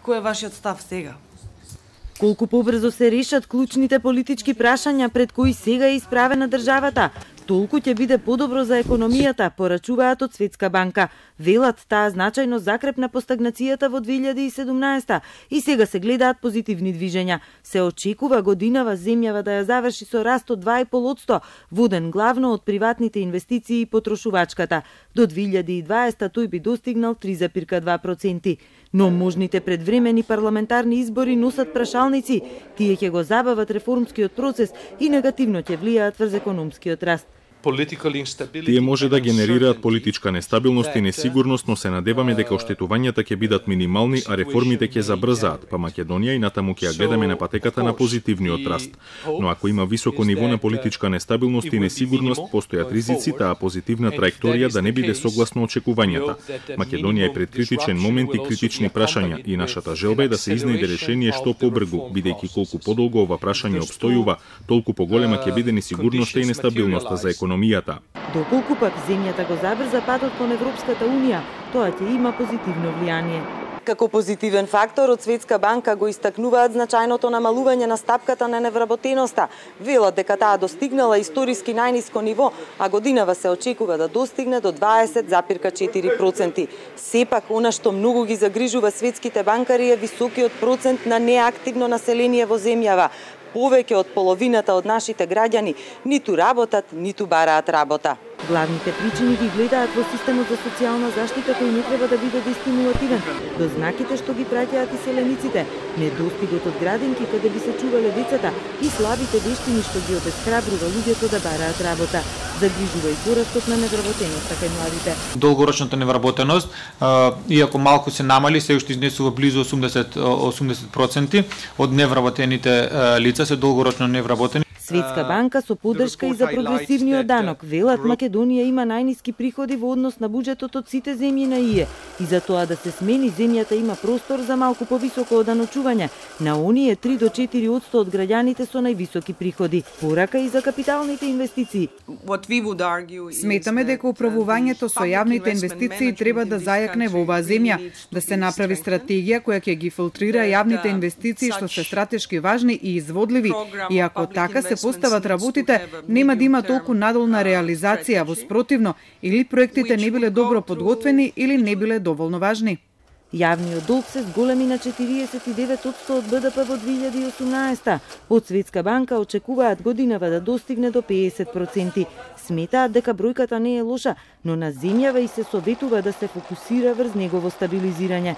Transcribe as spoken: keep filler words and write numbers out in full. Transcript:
Кој е вашиот став сега? Колку побрзо се решат клучните политички прашања пред кои сега е исправена државата, толку ќе биде подобро за економијата, порачуваат од Светска банка. Велат, таа значајно закрепна по стагнацијата во две илјади и седумнаесета и сега се гледаат позитивни движења. Се очекува годинава земјава да ја заврши со раст од два и пол одсто, воден главно од приватните инвестиции и потрошувачката. До две илјади и дваесета тој би достигнал три зарез два проценти. Но можните предвремени парламентарни избори носат прашалници. Тие ќе го забават реформскиот процес и негативно ќе влијаат врз економскиот раст. Тие може да генерираат политичка нестабилност и несигурност, но се надеваме дека оштетувањата ќе бидат минимални, а реформите ќе забрзаат, па Македонија и натаму ќе ја гледаме на патеката на позитивниот раст. Но ако има високо ниво на политичка нестабилност и несигурност, постојат ризици таа позитивна траекторија да не биде согласно очекувањата. Македонија е пред критичен момент и критични прашања и нашата желба е да се изнајде решение што побргу, бидејќи колку подолго ова прашање обстојува, толку поголема ќе биде несигурноста и нестабилноста за економијата. Доколку пак земјата го забрза патот кон Европската унија, тоа ќе има позитивно влијание. Како позитивен фактор од Светска банка го истакнуваат значајното намалување на стапката на невработеноста. Велат дека таа достигнала историски најниско ниво, а годинава се очекува да достигне до дваесет зарез четири проценти. Сепак, она што многу ги загрижува светските банкари е високиот процент на неактивно население во земјава. Повеќе од половината од нашите граѓани ниту работат, ниту бараат работа. Главните причини ги гледаат во системот за социјална заштита кој не треба да биде дестимулативен, до знаките што ги праќаат иселениците, недостигот од градинки каде би се чувале децата и слабите вештини што ги обесхрабрува луѓето да бараат работа. Загрижува и порастот на невработеноста кај младите. Долгорочната невработеност, иако малку се намали, се уште изнесува близу осумдесет проценти од невработените лица се долгорочно невработени. Светска банка со поддршка и за прогресивниот данок велат Македонија има најниски приходи во однос на буџетот од сите земји на ИЕ и за тоа да се смени земјата има простор за малку повисоко оданочување на оние три до четири одсто од граѓаните со највисоки приходи. Порака и за капиталните инвестиции. Сметаме дека управувањето со јавните инвестиции треба да зајакне во оваа земја, да се направи стратегија која ќе ги филтрира јавните инвестиции што се стратешки важни и изводливи, и ако така се постават работите, нема да има толку надолна реализација, во спротивно, или проектите не биле добро подготвени или не биле доволно важни. Јавниот долг се зголеми на четириесет и девет одсто од БДП во две илјади и осумнаесета. Од Светска банка очекуваат годинава да достигне до педесет проценти. Сметаат дека бројката не е лоша, но на земјава и се советува да се фокусира врз негово стабилизирање.